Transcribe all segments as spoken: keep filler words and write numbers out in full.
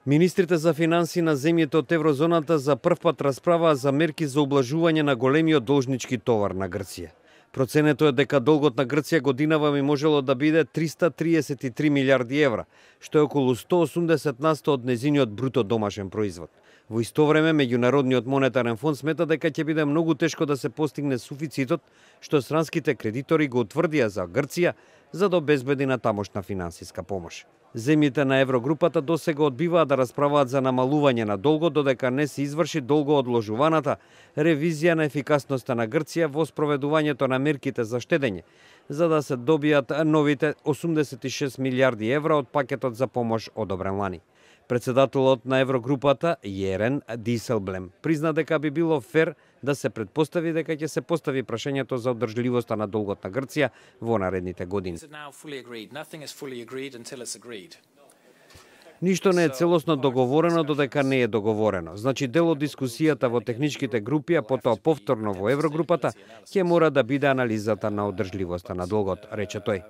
Министрите за финансии на земјите од еврозоната за прв пат расправаа за мерки за облажување на големиот должнички товар на Грција. Проценето е дека долгот на Грција годинава би можело да биде триста триесет и три милиарди евра, што е околу сто осумдесет на сто од незиниот бруто домашен производ. Во исто време, Меѓународниот монетарен фонд смета дека ќе биде многу тешко да се постигне суфицитот, што странските кредитори го утврдија за Грција, за да обезбеди на тамошна финансиска помош. Земјите на еврогрупата досега одбиваат да расправаат за намалување на долгот, додека не се изврши долгоодложуваната ревизија на ефикасноста на Грција во спроведувањето на мерките за штедење, за да се добијат новите осумдесет и шест милиарди евра од пакетот за помош одобрен лани. Председателот на еврогрупата, Јерен Диселблем, призна дека би било фер да се предпостави дека ќе се постави прашањето за одржливоста на долгот на Грција во наредните години. Ништо не е целосно договорено додека не е договорено. Значи дел од дискусијата во техничките групи, а потоа повторно во еврогрупата, ќе мора да биде анализата на одржливоста на долгот, рече тој.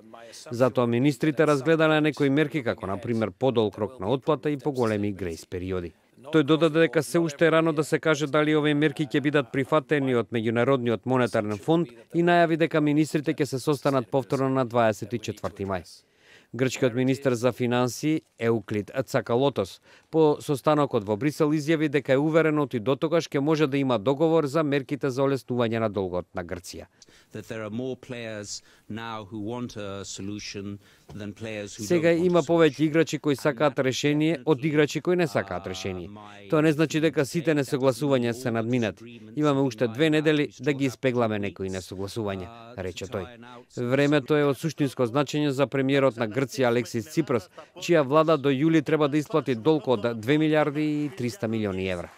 Затоа министрите разгледале некои мерки, како на пример подолг рок на отплата и поголеми грејс периоди. Тој додаде дека се уште е рано да се каже дали овие мерки ќе бидат прифатени од Меѓународниот монетарен фонд и најави дека министрите ќе се состанат повторно на дваесет и четврти мај. Грчкиот министер за финансии Еуклид Цакалотос по состанокот во Брисел изјави дека е уверен и дотогаш ќе може да има договор за мерките за олеснување на долгот на Грција. Сега има повеќе играчи кои сакаат решение од играчи кои не сакаат решение. Тоа не значи дека сите несогласувања се надминати. Имаме уште две недели да ги испегламе некои несогласувања, рече тој. Времето е од суштинско значење за премиерот на Грција Алексис Ципрас, чија влада до јули треба да исплати долг од две милиарди и триста милиони евра.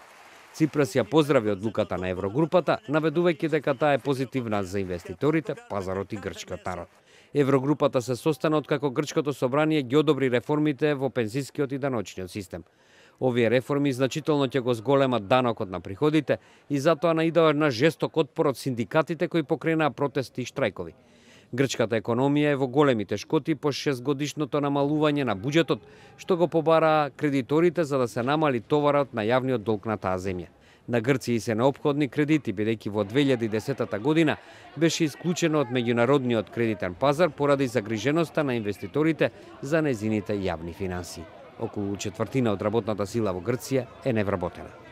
Ципрас ја поздрави одлуката на еврогрупата, наведувајќи дека таа е позитивна за инвеститорите, пазарот и грчкиот народ. Еврогрупата се состана откако грчкото собрание ги одобри реформите во пензискиот и даночниот систем. Овие реформи значително ќе го зголемат данокот на приходите и затоа наидоа на жесток отпор од синдикатите кои покренаа протести и штрајкови. Грчката економија е во големи тешкоти по шестгодишното намалување на буџетот, што го побараа кредиторите за да се намали товарот на јавниот долг на таа земја. На Грција се неопходни кредити, бидејќи во две илјади и десета година беше исклучено од меѓународниот кредитен пазар поради загриженоста на инвеститорите за незините јавни финансии. Околу четвртина од работната сила во Грција е невработена.